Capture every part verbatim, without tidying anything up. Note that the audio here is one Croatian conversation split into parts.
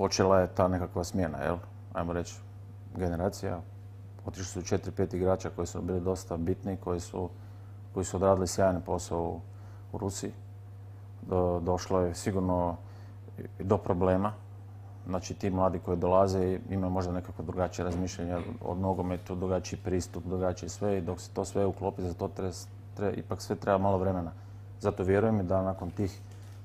počela je ta nekakva smjena, jel? Ajmo reći, generacija. Otišli su četiri, pet igrača koji su bili dosta bitni, koji su, koji su odradili sjajan posao u, u Rusiji. Do, došlo je sigurno do problema. Znači, ti mladi koji dolaze imaju možda nekako drugačije razmišljanje od nogometu, drugačiji pristup, drugačije sve. I dok se to sve uklopi, za to treba, treba, ipak sve treba malo vremena. Zato vjerujem da nakon tih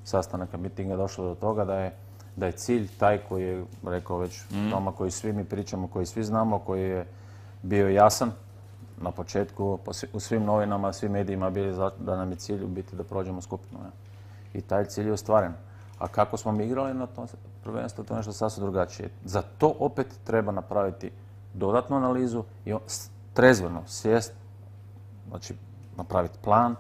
sastanaka mitinga je došlo do toga da je, da je cilj taj koji je, rekao već mm. Toma, koji svi mi pričamo, koji svi znamo, koji je bio jasan na početku, u svim novinama, svim medijima bili da nam je cilj u biti da prođemo skupinu. Ne? I taj cilj je ostvaren. A kako smo mi igrali na tom prvenstvu, to je nešto sasvim drugačije. Za to opet treba napraviti dodatnu analizu i trezveno sjest, znači napraviti plan,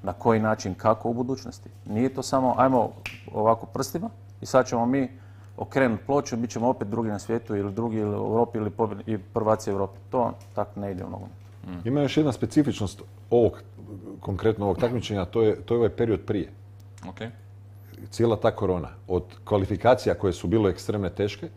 na koji način, kako u budućnosti. Nije to samo, ajmo ovako prstima i sad ćemo mi okrenuti ploču, bit ćemo opet drugi na svijetu ili drugi ili u Europi ili i prvaci Europi. To tako ne ide u nogomet. Mm. Ima još jedna specifičnost ovog, konkretno ovog takmičenja, to je, to je ovaj period prije. Okay. Cijela ta korona. Od kvalifikacija koje su bile ekstremne teške,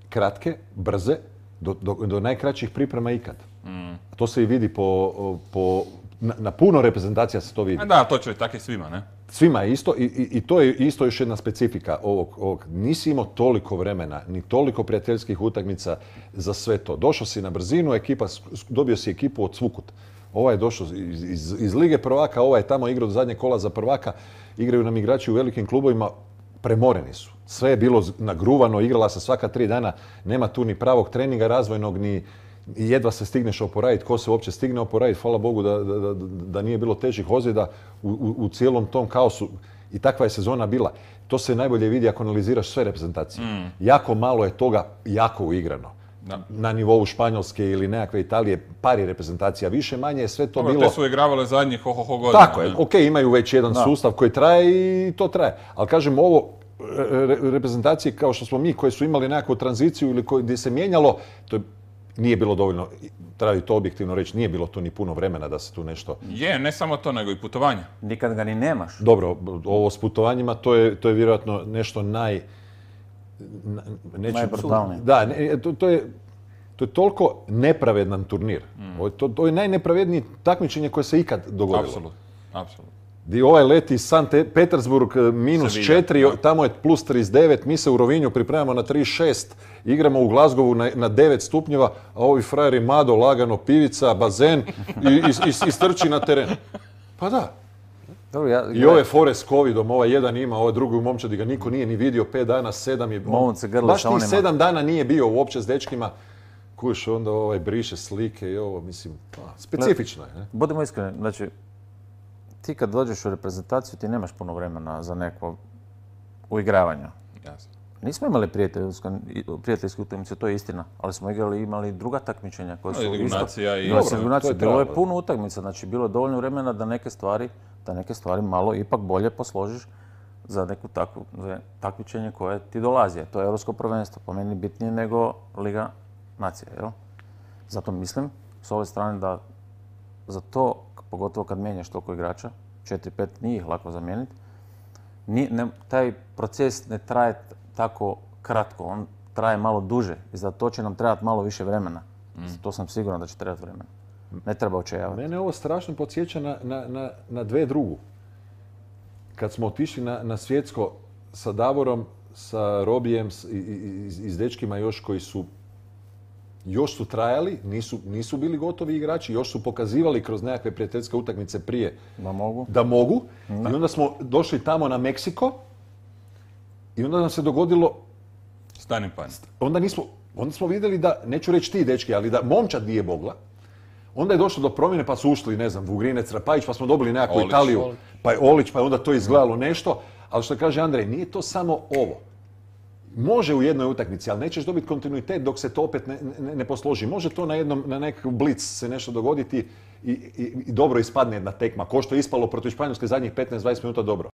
kratke, brze, do, do, do najkraćih priprema ikad. Mm. To se i vidi po, po na, na puno reprezentacija se to vidi. A da, to će tako i svima, ne? Svima je isto i, i, i to je isto još jedna specifika ovog, ovog. Nisi imao toliko vremena, ni toliko prijateljskih utakmica za sve to. Došao si na brzinu, ekipa, dobio si ekipu od svukut. Ovaj je došao iz, iz, iz Lige prvaka, ovaj je tamo igrao do zadnje kola za prvaka. Igraju nam igrači u velikim klubovima, premoreni su. Sve je bilo nagruvano, igrala se svaka tri dana, nema tu ni pravog treninga razvojnog, ni jedva se stigneš oporaviti, ko se uopće stigne oporaviti, hvala Bogu da, da, da, da nije bilo težih ozljeda u, u, u cijelom tom kaosu. I takva je sezona bila. To se najbolje vidi ako analiziraš sve reprezentacije. Mm. Jako malo je toga jako uigrano. Da. Na nivou Španjolske ili nekakve Italije, pari reprezentacija, više manje je sve to Dobro, bilo... Te su igravale zadnjih ho, ho, ho godina. Tako je, ok, imaju već jedan da. sustav koji traje i to traje. Ali kažem, ovo re, reprezentacije kao što smo mi, koje su imali nekakvu tranziciju ili koje, gdje se mijenjalo, to je, nije bilo dovoljno, treba to objektivno reći, nije bilo tu ni puno vremena da se tu nešto... Je, ne samo to, nego i putovanja. Nikad ga ni nemaš. Dobro, ovo s putovanjima, to je, to je vjerojatno nešto naj... Najbrutalnije. Da, ne, to, to, je, to je toliko nepravedan turnir. Mm. To, to je najnepravednije takmičenje koje se ikad dogodilo. Apsolutno, apsolutno. Di ovaj leti Sankt Petersburg minus četiri, tamo je plus trideset devet, mi se u Rovinju pripremamo na trideset šest, igramo u Glazgovu na, na devet stupnjeva, a ovi frajeri Mado, lagano, pivica, bazen i, i, i, i strči na teren. Pa da. Dobro, ja, I ove fore s covidom, ovaj jedan ima, ovaj drugi u momčadi ga niko nije ni vidio, pet dana, sedam je... On, baš tih sedam dana nije bio uopće s dečkima. Kuš, onda ovaj briše slike i ovo, mislim, pa, specifično je. Ne? Budemo iskreni, znači, ti kad dođeš u reprezentaciju ti nemaš puno vremena za neko uigravanje. Jasno. Nismo imali prijateljske utakmice, to je istina, ali smo igrali imali druga takmičenja koja su isto... I... Dobro, to je bilo je puno utakmica, znači bilo je dovoljno vremena da neke stvari, da neke stvari malo ipak bolje posložiš za neku takvu, za takmičenje koje ti dolazi. To je Europsko prvenstvo, po meni bitnije nego Liga nacija, jel? Zato mislim s ove strane da za to, pogotovo kad mijenjaš toliko igrača, četiri pet nije ih lako zamijeniti, ne, taj proces ne traje tako kratko, on traje malo duže i za to će nam trebati malo više vremena. Mm. To sam siguran da će trebati vremena. Ne treba očajavati. Mene ovo strašno podsjeća na, na, na, na dve drugu. Kad smo otišli na, na svjetsko sa Davorom, sa Robijem i, i, i s dečkima još koji su još su trajali, nisu, nisu bili gotovi igrači, još su pokazivali kroz nekakve prijateljske utakmice prije da mogu. Da mogu. Da. I onda smo došli tamo na Meksiko i onda nam se dogodilo... Stani pan. Onda, nismo, onda smo vidjeli da, neću reći ti dečki, ali da momčad nije mogla. Onda je došlo do promjene pa su ušli, ne znam, Vugrinec, Rapajić, pa smo dobili nekakvu Olić, Italiju, Olić. Pa je Olić, pa je onda to izgledalo nešto. Ali što kaže Andrej, nije to samo ovo. Može u jednoj utakmici, ali nećeš dobiti kontinuitet dok se to opet ne, ne, ne posloži. Može to na jednom, na nekakav blic se nešto dogoditi i, i, i dobro ispadne jedna tekma. Ko što je ispalo protiv Španjolske zadnjih petnaest dvadeset minuta dobro.